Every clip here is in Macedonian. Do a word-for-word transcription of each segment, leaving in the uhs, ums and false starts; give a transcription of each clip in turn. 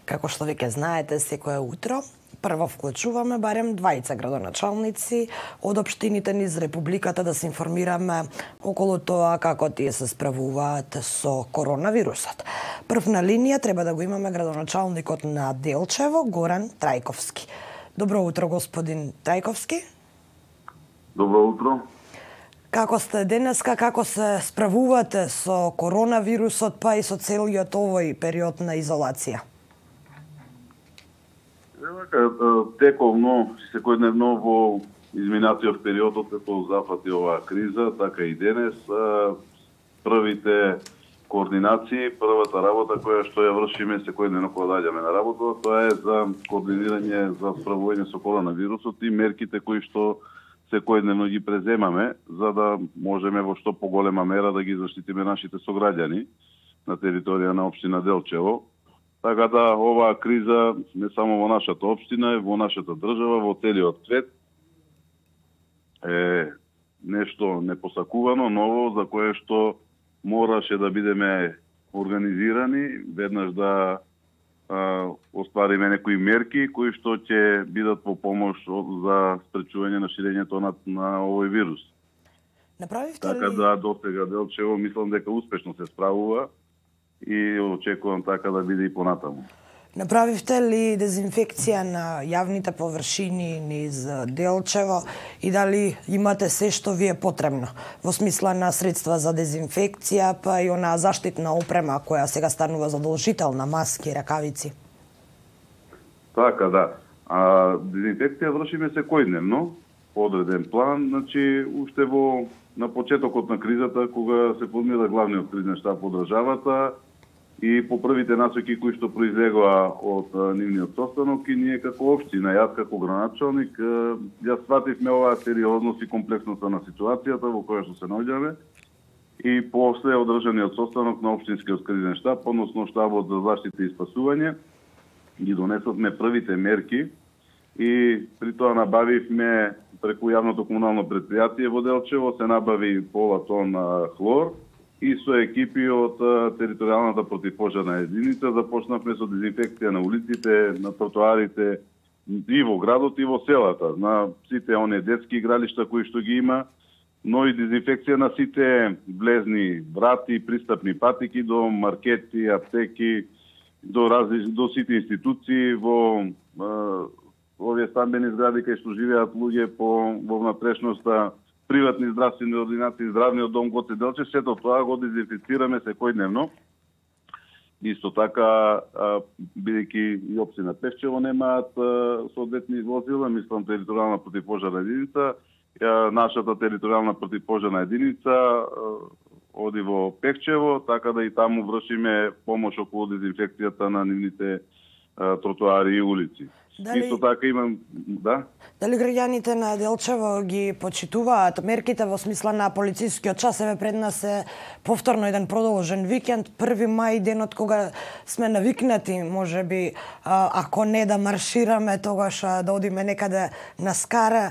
Како што веќе знаете, секое утро прво вклучуваме барем двајца градоначалници од општините низ Републиката да се информираме околу тоа како тие се справуваат со коронавирусот. Прв на линија треба да го имаме градоначалникот на Делчево, Горан Трајковски. Добро утро, господин Трајковски. Добро утро. Како сте денеска, како се справувате со коронавирусот, па и со целиот овој период на изолација? Тековно, секојдневно во изминатиот период од како зафати оваа криза, така и денес, првите координации, првата работа која што ја вршиме секојдневно кога доаѓаме на работа, тоа е за координирање за справување со коронавирусот и мерките кои што секојдневно ги преземаме, за да можеме во што поголема мера да ги заштитиме нашите сограѓани на територија на општина Делчево. Така да оваа криза не само во нашата општина, во нашата држава, во целиот свет е нешто непосакувано, ново, за кое што мораше да бидеме организирани, веднаш да а, оствариме некои мерки кои што ќе бидат во помош за спречување на ширењето на, на овој вирус. Направивте Така ли... да до сега Делчево мислам дека успешно се справува и очекувам така да биде и понатаму. Направивте ли дезинфекција на јавните површини низ Делчево и дали имате се што ви е потребно во смисла на средства за дезинфекција, па и она заштитна опрема која сега станува задолжителна, маски, ракавици? Така да. А дезинфекција вршиме секојдневно по одреден план, значи уште во на почетокот на кризата кога се формира главниот кризен штаб во државата и по првите насоки кои што произлегоа од нивниот состанок и ние како општина, јас како градоначалник, ја свативме оваа сериозност и комплексноста на ситуацијата во која што се наоѓаме и после одржаниот состанок на општинскиот кризен штаб, односно штабот за заштита и спасување, ги донесовме првите мерки и при тоа набавивме преку јавното комунално предпријатие во Делчево, се набави пола тон хлор, и со екипи од територијалната противпожарна единица започнавме со дезинфекција на улиците, на тротоарите и во градот и во селата, на сите оние детски игралишта кои што ги има, но и дезинфекција на сите влезни врати, пристапни патики до маркети, аптеки, до различни до сите институции во е, овие стамбени згради кај што живеат луѓе по во внатрешноста, приватни здравствени ординации, здравниот дом Гоце Делче, сето тоа го дезинфицираме секојдневно. Исто така, бидејќи и општина Пешчево немаат соодветни возила, мислам територијална противпожарна единица, нашата територијална противпожарна единица оди во Пекчево, така да и таму вршиме помош околу дезинфекцијата на нивните тротоари и улици. Дали... Исто така имам, да? Дали граѓаните на Делчево ги почитуваат мерките во смисла на полицискиот час? Еве пред нас е повторно еден продолжен викенд, први мај, денот кога сме навикнати, можеби, ако не да маршираме, тогаш да одиме некаде на скара.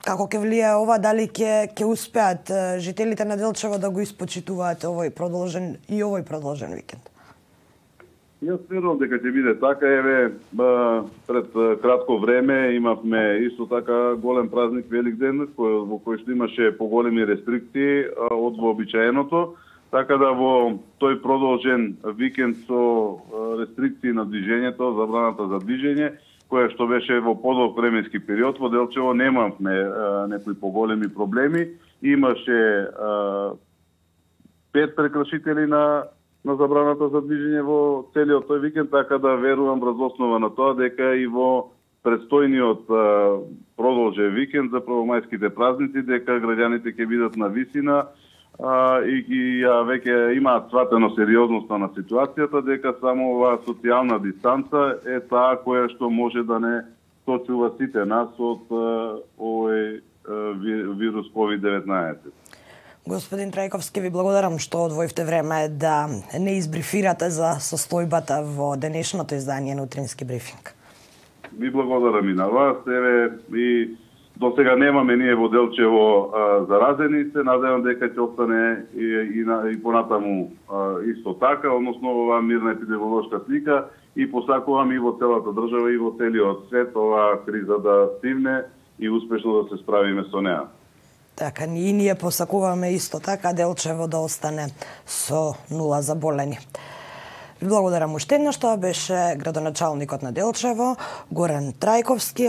Како ќе влие ова, дали ќе ќе успеат жителите на Делчево да го испочитуваат овој продолжен и овој продолжен викенд? Јас верувам дека ќе биде така. Еве, пред кратко време имавме исто така голем празник Великден, кој, во кој што имаше поголеми рестрикции од вообичаеното, така да во тој продолжен викенд со рестрикции на движењето, забраната за движење, која што беше во подолг временски период, во Делчево немавме некои поголеми проблеми. Имаше пет прекршители на на забраната за движење во целиот тој викенд, така да верувам врз основа на тоа дека и во предстојниот продолжен викенд за првомајските празници, дека граѓаните ќе бидат на висина а, и, и а, веќе имаат сватено сериозноста на ситуацијата, дека само оваа социјална дистанца е таа која што може да не сочува сите нас од овој вирус ковид деветнаесет. Господин Трајковски, ви благодарам што одвоивте време да не избрифирате за состојбата во денешното издание на утрински брифинг. Ви благодарам и на вас. Еве, и до сега немаме ние во Делчево а, заразени, се надевам дека ќе остане и, и, на, и понатаму а, исто така, односно оваа мирна епидемиолошка слика и посакувам и во целата држава и во целиот свет оваа криза да стигне и успешно да се справиме со неа. Така, и ние посакуваме исто така Делчево да остане со нула заболени. Ви благодарам уште еднаш, тоа беше градоначалникот на Делчево, Горан Трајковски.